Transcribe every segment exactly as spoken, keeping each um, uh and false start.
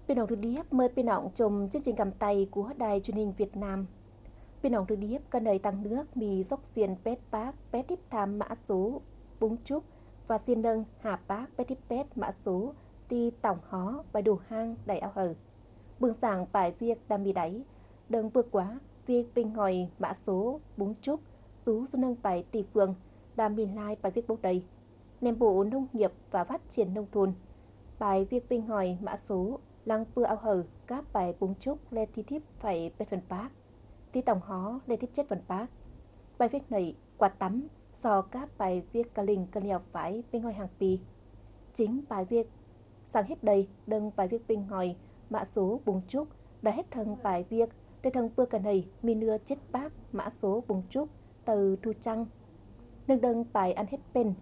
Phi nọng Thư Điếp mời phi nọng chôm chương trình cắm tay của Đài Truyền hình Việt Nam. Phi nọng Thư Điếp, cần đảy tăng nước mì dốc xiên pet pác pet điếp tham mã số bung chúc và xiên nâng hà pác pet điếp pet mã số ti tổng hó bài đủ hang đảy ao hờ. Bưng sảng bài việc đa mì đảy, đơng bưa quá, việc bình hỏi mã số bung chúc, dú dú nâng bài ti phương, đa mì lai bài việc bốc đầy. Nem Bộ Nông nghiệp và Phát triển Nông thôn, bài việc bình hỏi mã số lăng pưa ao hờ, cáp bài bung chúc lê thi thiếp phải pet phần pác, ti tổng hó lê thiếp chết phần pác. Bài việc nảy quạt tắm, so cáp bài việc cà linh cà lèo phải bình hỏi hàng pi. Chính bài việc sảng hết đầy, đơng bài việc bình hỏi mã số bung chúc, đã hết thâng bài việc, tê thâng pưa cà nầy, mì nưa chết pác mã số bung chúc, tờ thu trăng. Nâng đơng bài ăn hết pên.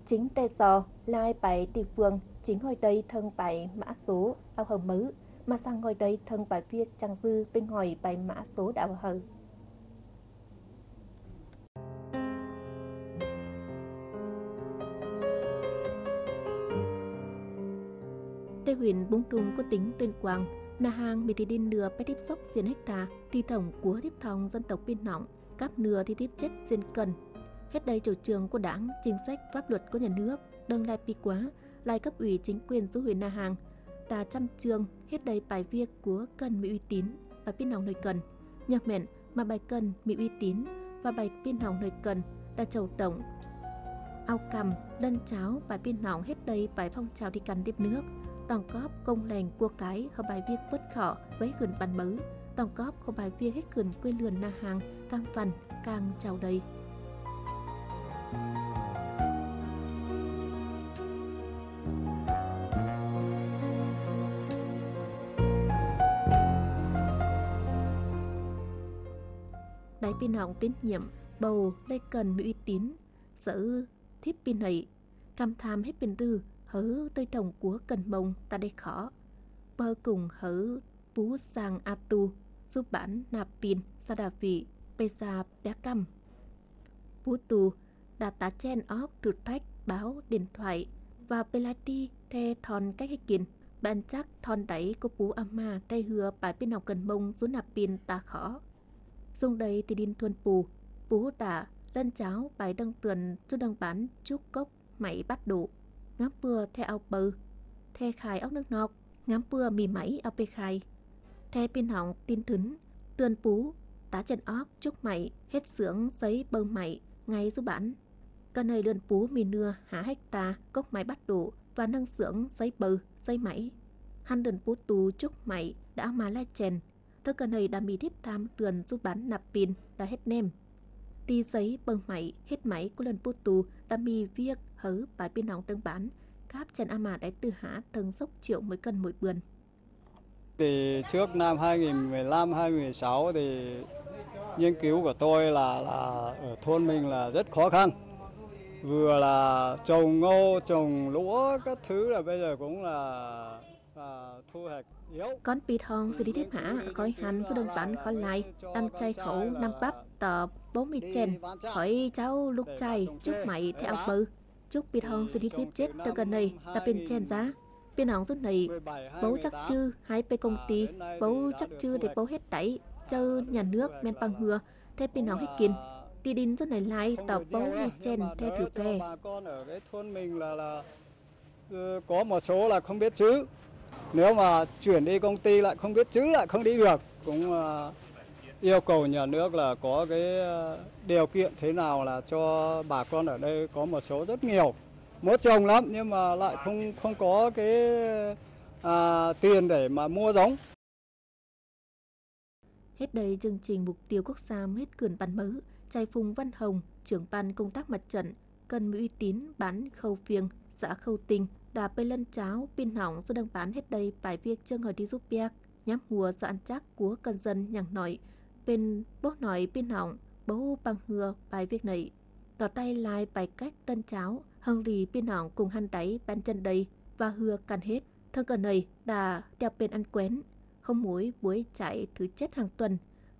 Chính tê so, lai bài ti phương, chính hỏi đây thâng bài mã số ao hờ mớ, mà sảng hỏi đây thâng bài việc chăng dư bình hỏi bài mã số đã ao hờ. Tê huyện Búng Trung của tỉnh Tuyên Quang, na hàng mì ti đin nưa pet điếp sốc xiên hecta, ti tổng của thiếp thong dân tộc Pin Nọng, cắp nưa ti thiếp chết xiên cần. Hết đây chủ trương của Đảng, chính sách, pháp luật của nhà nước, đơng lai pi quá, lai cấp ủy chính quyền dú huyện na hàng, ta chăm chương, hết đây bài việc của cần mì uy tín, bài Pin Nọng nơi cần. Nhờ mẹn, mà bài cần mì uy tín và bài Pin Nọng nơi cần, ta chủ động ao căm, lân cháo bài Pin Nọng hết đây bài phong trào đi căn điếp nước, tổng góp công lành của cái hơ bài việc bớt khọ với khửn bắn mớ, tổng góp của bài việc hết khửn quê lươn na hàng, căng phần, căng chào đây. Đảy Pin Nọng tín nhiệm, bầu, lê cần mì uy tín, sở thiếp pin hạy, căm tham hết pin rư, hớ tơi đồng của cần mông ta đê khó. Bơ cùng hớ Pú Sang A Tu, dú bản Nạp Pin, xã Đà Vị, pê sa pia căm. Pú Tu, đã tá chen óc thử thách báo điện thoại và pê lai ti the thon cách hết kin. Bạn chắc thon đáy của Pú A Ma trai hưa bài Pin Nọng cần mông dú Nạp Pin ta khó. Dung đây ti đin thuôn pù, Pú đã lân cháo bài đăng tuần dú đăng bản chúc cốc mảy bắt độ. Ngắm pưa the ao pơ, the khai ốc nước nok, ngắm pưa mì mảy ao pê khai. The Pin Nọng tin thứn, tươn Pú, tá chen óc chúc mảy, hết xưởng giấy bơ mảy, ngay dú bản. Cà nầy lươn Pú mì nưa hả hecta cốc mảy bắt độ và nâng xưởng giấy bơ, giấy mảy. Hăn lươn Pú Tu chúc mảy đã mà lai chèn, Thơ cà nầy đa mì thiếp tham lươn dú bản Nạp Pin đa hết nem. Ti giấy bơ̆ng mảy, hết mảy cú lươn Pú Tu đa mì việc hớ bài Pin Nọng tơ̆ng bản, cáp chèn a mả đảy tư hả tơ̆ng dốc triệu mỗi cân mỗi bươn. Thì trước năm hai nghìn mười lăm, hai nghìn mười sáu thì nghiên cứu của tôi là, là ở thôn mình là rất khó khăn. Vừa là trồng ngô, trồng lúa các thứ là bây giờ cũng là Cón Pi Thong sư đi thiếp hả, khỏi hăn dú đơ̆ng bản khỏi lai, đăm chày khảu năm bắp tọ bấu mì chèn, khỏi cháu lục chày, chúc mảy theo ao pơ. Chúc Pi Thong sư đi thiếp chết tơ cà nầy, đa pên chèn dá. Pin Nọng dú nầy, bấu chắc chư, hãy pê công ty, bấu chắc chư để bấu hết đảy, chơ nhà nước men păng hưa, thế Pin Nọng hết kin. Ti đin dú nầy lai, tọ bấu mì chèn, theo thử phe. Ờ, có một số là không biết chữ. Nếu mà chuyển đi công ty lại không biết chữ lại không đi được. Cũng, ờ, yêu cầu nhà nước là có cái, ờ, điều kiện thế nào là cho bà con ở đây có một số rất nhiều. Muốn trồng lắm nhưng mà lại không, không có cái, à, tiền để mà mua giống. Hết đây chương trình mục tiêu quốc gia mết cửn bản mớ, chày Phùng Văn Hồng, trưởng ban công tác mặt trận, cần mì uy tín bản Khâu Phiêng, xã Khâu Tinh, đa pê lân cháo, Pin Nọng dú đơ̆ng bản hết đây bài việc chơ ngòi đi dú piak, nhắm hùa do ăn chắc của cần dân nhẳng nội, pên bố nội Pin Nọng, bấu păng hưa bài việc nầy. Tỏ tay lai bài cách lân cháo, hơng lì Pin Nọng cùng hăn đảy bàn chân đây, và hưa căn hết. Thơ cà nầy đa tiạp pên ăn quen, không muối buổi chạy thứ chết hàng tuần.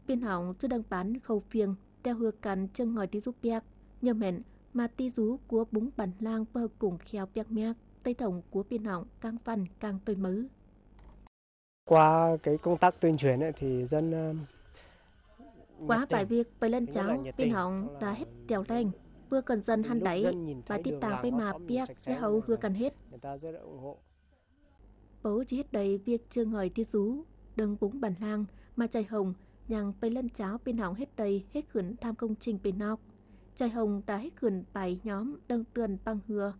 Pin Nọng dú đơ̆ng bản Khâu Phiêng, tiạp hưa căn chơ ngòi đi dú piak, nhờ mẹn, mà ti dú cua búng bản lang pơ cùng kheo piak miak, tây tổng của Pin Nọng cang văn cang tôi mớ. Qua cái công tác tuyên truyền ấy thì dân, ơ, Quá bài việc pơi lân cháo, pin hỏng đã hết trèo leng. Vừa cần dân hăn đáy, bài tít tang pơi mà piak, lễ hậu hứa cần hết. Bấu chỉ hết đầy việc chơ ngòi thi dú, đơng búng bản lang, mà chạy hồng, nhang pơi lân cháo pin hỏng hết đầy, hết khửn tham công trình pin nọc. Chạy hồng đã hết khửn bài nhóm, đơng tuần băng hứa,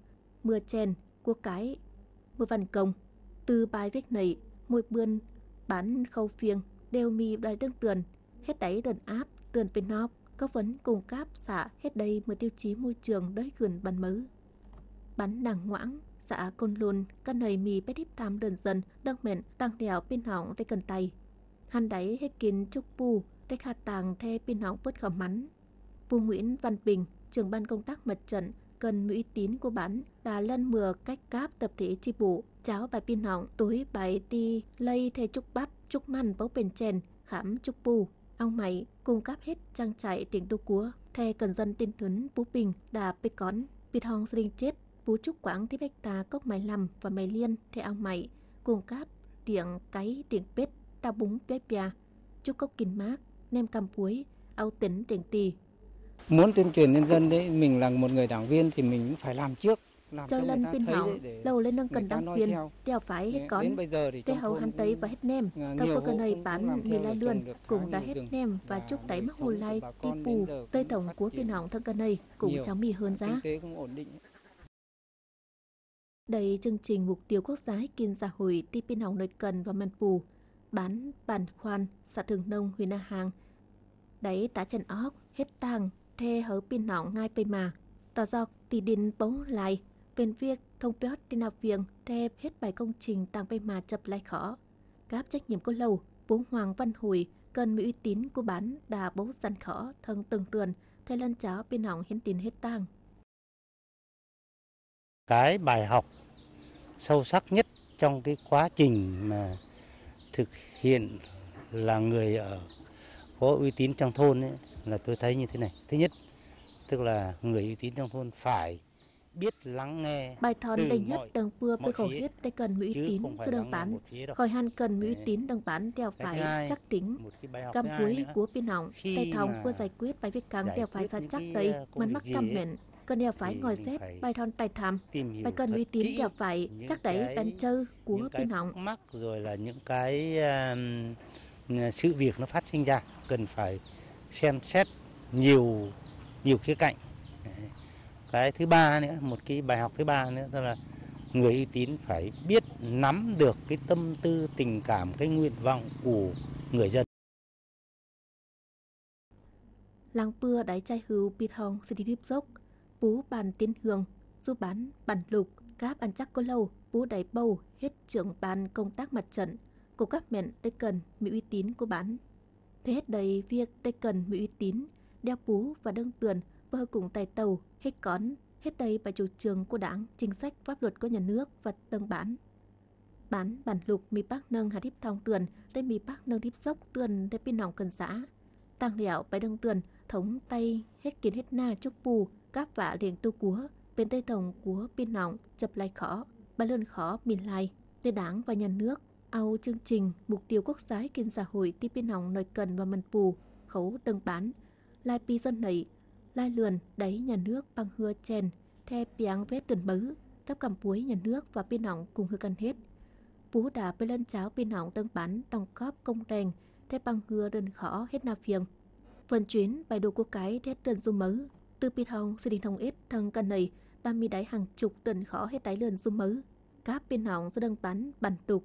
mưa chèn, của cái, mưa văn công. Từ bài viết này, mỗi bươn, bản khâu phiêng, đều mì đòi đơng tuần, hết đáy đần áp, tuần pên nọc, có vấn cung cấp xã hết đây mưa tiêu chí môi trường đới khửn bản mớ. Bản nặng ngoãng, xã Côn Lôn, căn này mì pét híp tham đơn dân, đơng mện, tăng đèo pin hỏng tê cần tay. Hăn đáy hết kín chúc pu, tê khả tàng thê pin hỏng bớt khỏ mắn. Pu Nguyễn Văn Bình, trưởng ban công tác mặt trận, cần mì uy tín của bản, đã lăn mưa cách cáp tập thể chi bộ, cháo bài pin hỏng, túi bài ti lây thê chúc bắp, chúc măn bấu pên chèn, khám chúc pu. Ông Mạy cung cấp hết trang trại tiện đô cúa, thê cần dân tin thứn Pú Bình đã bê cón, bịt hong sring chết, Pú chúc quảng tiếp hecta cốc mai lăm và mai liên, thê ông Mạy cung cấp tiện cáy, tiện pết, đau búng pia pia, chúc cốc kin mác, nem căm puối, au tỉnh tiện tì. Muốn tuyên truyền nhân dân đấy, mình là một người đảng viên thì mình cũng phải làm trước. Chơ lân pin hỏng, lâu lên nâng cần đảng viên, đeo phải hết cón. Tê hầu hăn tây và hết nem, tàu có cần hơi bán mì lai lươn, cũng đã hết nem và chúc đáy mắc hù lai, ti pù, tơi tổng của pin hỏng thân cần hơi, cũng cháo mì hơn giá. Đảy chương trình mục tiêu quốc gia hích kin xã hội ti pin hỏng nội cần và măn pù, bản Bản Khoan, xã Thượng Nông, huyện Na Hàng. Đảy tá chăn óc, hết tang, thê hớ pin hỏng ngai pây mà. Tỏ dọc, tỉ đin bấu lai, pên việc thông piót ti nạp viêng, thê hết bài công trình tăng pây mà chập lai khó. Cáp trách nhiệm cô lâu, Pú Hoàng Văn Hội, cần mì uy tín của bản đã bấu dặn khó, thân từng tuần, thê lân cháo pin hỏng hiến tín hết tang. Cái bài học sâu sắc nhất trong cái quá trình mà thực hiện là người ở có uy tín trong thôn ấy, là tôi thấy như thế này. Thứ nhất, tức là người uy tín trong thôn phải biết lắng nghe. Bài thòn đỉnh nhất đăng pưa pưa khẩu hiết tê cần mì uy tín cho đăng bản, khỏi hăn cần mì uy tín đăng bản đeo phải chắc tính. Căm cuối của pin hỏng, tay thòng của giải quyết bài việc căng đeo phải ra chắc tây, măn mắc căm hẹn. Cần đeo phải ngồi xét bài thòn tài tham, bài cần uy tín đeo phải chắc đáy bén chơ của pin hỏng. Mắc rồi là những cái, um, sự việc nó phát sinh ra cần phải xem xét nhiều, nhiều khía cạnh. Đấy. Cái thứ ba nữa, một cái bài học thứ ba nữa, đó là người uy tín phải biết nắm được cái tâm tư, tình cảm, cái nguyện vọng của người dân. Lăng pưa đảy chai hưu pịt hong sư đi tiếp dốc, pú bàn tiến hương, du bản bản lục, cáp ăn chắc cô lâu, pú đảy bầu, hết trưởng ban công tác mặt trận, cô cắp mẹn tê cần mì uy tín của bản. Thế hết đảy việc tê cần mì uy tín, đeo pú và đương tuyển, bơ cùng tài tàu, hết cón, hết đảy bài chủ trương của Đảng, chính sách, pháp luật của nhà nước và tầng bản. Bản bản lục mì bác nâng hạt hiếp thong tuyển, tê mì bác nâng hiếp dốc tuyển tê pin nọng cần xã. Tăng lẹo bài đương tuyển, thống tay, hết kiến hết na chúc pù, cáp vạ liêng tu cúa, bên tê thống cúa pin nọng, chập lai khó, bài lươn khó, mìn lai. Tê Đảng và nhà nước, au chương trình, mục tiêu quốc gia hích kiến xã hội ti pin nọng nội cần và mần pù, khấu đương bản. Lai pi dân nảy, lai lượn đảy nhà nước păng hưa chèn, the piang vết đơn mứ, cắp cằm puối nhà nước và pin nọng cùng hưa cần hết. Pú đã bê lân cháo pin nọng đương bản đóng góp công đèn, the păng hưa đơn khó hết na phiêng. Phần chuyến bài đồ cua cái thét đơn du mứ, từ pi thong, sư đi thông ít thâng cần nảy, ba mi đáy hàng chục đơn khó hết đáy lượn du mứ. Cáp pin nọng sư đương bản bản tục,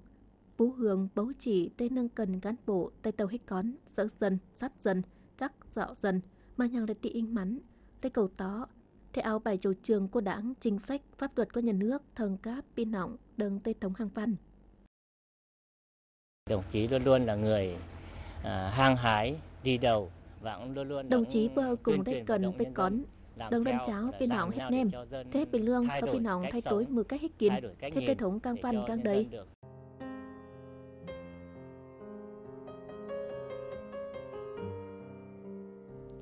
Pú Hương bấu chỉ tê nâng cần cán bộ tê tàu hích cón, sớ dân, sắt dân, chắc dọ dân, mà nhang lê tị inh mắn, lê cầu tó, theo bài chủ trương của Đảng, chính sách, pháp luật của nhà nước, thâng cáp pin nọng, đương tê thống hàng văn. Đồng chí luôn luôn là người, à, hăng hái đi đầu và cũng luôn luôn Đồng chí đóng bơ tuyên cùng truyền đê vận cần động bê nhân dân, cón, làm đương đơn theo cháo là pin Đảng nọng hết neo để nem, cho dân thế pin lương thay có đổi pin nọng cách thay sống, đổi mưa cách hích kín, thay đổi cách thế nhìn tê thống cang để văn cho cang nhân đấy. Dân được.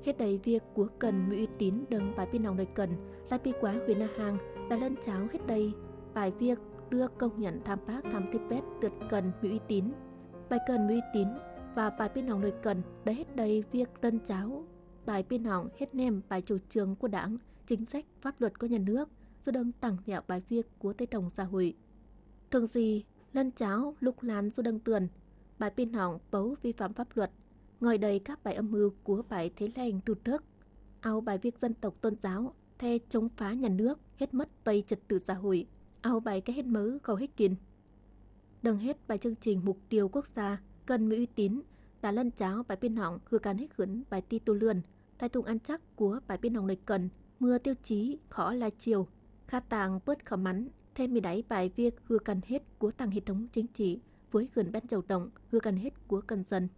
Hết đảy việc của cần mì uy tín đương bài pin nọng đòi cần, lai pi quá huyện Na Hàng, là lân cháo hết đảy bài việc đưa công nhận tham bác tham tiếp pet tuyệt cần mì uy tín. Bài cần mì uy tín và bài pin hỏng nơi cần đã hết đây việc lân cháo bài pin hỏng hết nem bài chủ trương của Đảng, chính sách, pháp luật của nhà nước, rồi đừng tặng nhạo bài việc của tê tổng xã hội. Thường gì, lân cháo, lục lan, rồi đừng tuần, bài pin hỏng bấu vi phạm pháp luật, ngòi đầy các bài âm mưu của bài thế lành tụt thức, ao bài việc dân tộc tôn giáo, the chống phá nhà nước, hết mất tây trật tự xã hội, ao bài cái hết mớ khẩu hết kín. Đừng hết bài chương trình mục tiêu quốc gia, cần mì uy tín, ta lân cháo bài pin hỏng hư can hết khửn bài ti tu lươn, tai tung ăn chắc của bài pin hỏng nơi cần, mưa tiêu chí khó lai chiều, kha tàng bớt khẩu mắn, thêm mì đáy bài việc hư can hết của tăng hệ thống chính trị, với khửn ban châu động, hư can hết của cần dân.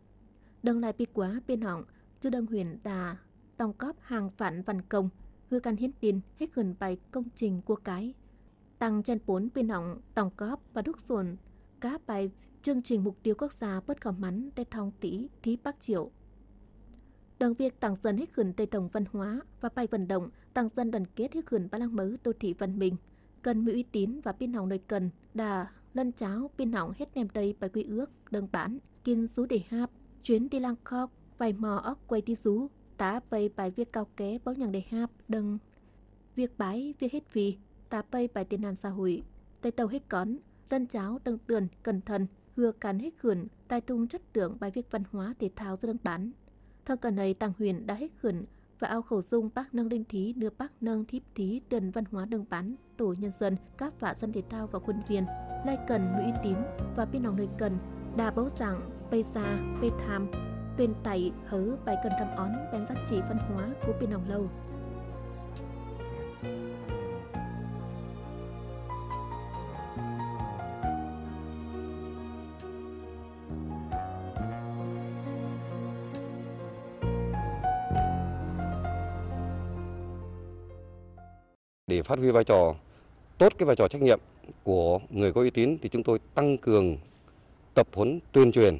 Đừng lại bị quá pin hỏng, chú đừng huyện đà, tổng góp hàng vạn văn công, hư can hiến tin, hết khửn bài công trình của cái. Tăng chen bốn pin hỏng tổng góp và đúc dồn các bài chương trình mục tiêu quốc gia bớt khẩu mắn tê thong tỷ, thí bắc triệu. Đừng việc tăng dân hết khửn tê tổng văn hóa và bài vận động, tăng dân đoàn kết hết khửn ba lăng mớ đô thị văn minh. Cần mì uy tín và pin hỏng nơi cần, đà lân cháo pin hỏng hết nem đây bài quy ước, đơn bản, kin sú để hạp, chuyến đi lang khóc, vay mò óc quay đi sú, tá pây bài việc cao ké bấu nhằng để hạp, đừng việc bái, việc hết vì, tá pây bài tiền nạn xã hội, tay tàu hết cón, lân cháo, đừng tuần, cẩn thận, hưa can hết khửn, tai tung chất lượng bài việc văn hóa thể thao do đơn bản. Thông cần này, tăng huyện đã hết khửn và ao khẩu dung bác nâng linh thí, nửa bác nâng thiếp thí, tuyển văn hóa đơn bản, tổ nhân dân, các vạ dân thể thao và khuôn viên, lai cần mì uy tín và pin hỏng nơi cần, đa bấu rằng, pê gia, pê tham, tuyên tải hớ bài cần răm ón, bèn giá trị văn hóa của pin hỏng lâu. Để phát huy vai trò, tốt cái vai trò trách nhiệm của người có uy tín thì chúng tôi tăng cường tập huấn tuyên truyền,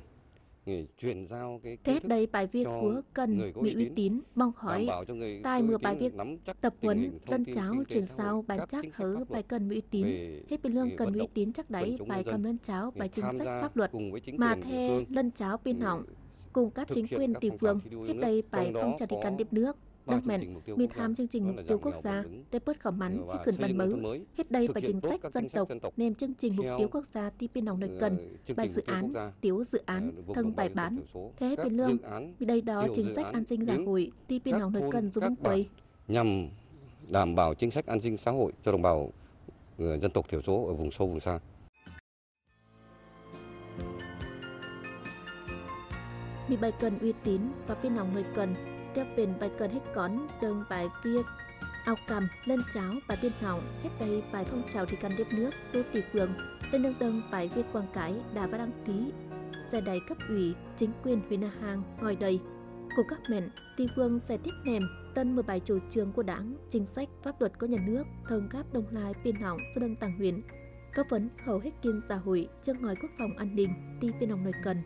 chuyển giao cái Thế kiến thức đây bài viết cho của cần người có uy mì uy tín. Tín mong hỏi, đảm bảo cho người tai có uy mưa bài tín viết nắm chắc tập tình huấn hình thông lân tin cháo kinh tế chuyển xã hội, giao bản các chắc chính sách hớ pháp bài luật cần mì uy tín, về hết bình lương vấn cần mì uy động tín chắc quần đáy chúng bài nhân dân, khăm lân cháo bài để chính tham sách gia pháp luật cùng với chính mà quyền địa the phương, lân cháo pin ừ, hỏng, cùng các thực chính hiện quyền các địa phong trào phương thi đua yêu hết nước, đây bài trong phong đó trào đi có căn tiếp nước. Ba Nước chương mẹn, trình mục tiêu mì quốc gia, tham chương trình đó mục là tiêu giảm quốc nghèo gia, bền vững tê và bớt khảo xây mắn, dựng nông thôn mới, hết khửn văn mớ, thực hết đây hiện và tốt chính sách các dân chính sách tộc, dân tộc nem chương trình mục theo, tiêu quốc gia ti pin hỏng nơi ờ, cần, chương bài trình dự mục tiêu quốc án, gia, tiểu dự án, ờ, vùng thông đồng bài bào dân tộc bản, thiểu số, thế hết các bình lương, dự án, mì đây đó tiểu chính dự sách án an sinh xã đến hội ti pin các hỏng nơi thôn, cần dù các mong bản quay. Nhằm đảm bảo chính sách an sinh xã hội cho đồng bào, ờ, dân tộc thiểu số ở vùng sâu, vùng xa. Mì bài cần uy tín và pin hỏng nơi cần, tiếp pên bài cần hết cón, đơn bài viết, ao căm, lân cháo, bài pin hỏng, hết đây bài phong trào đi căn tiếp nước, tu tỷ phường, tên đơn đơn bài viết quảng cáo, đa và đăng ký, xe đài cấp ủy, chính quyền huyện Na Hàng, ngòi đây. Của các mẹn, Ti phương sẽ tiếp nèm, tân mười bảy chủ trương của Đảng, chính sách, pháp luật của nhà nước, thông cáp đồng lai pin hỏng cho đồng tảng huyện, cấp vấn hầu hết kiên xã hội, chương ngòi quốc phòng an ninh, ti pin hỏng nơi cần.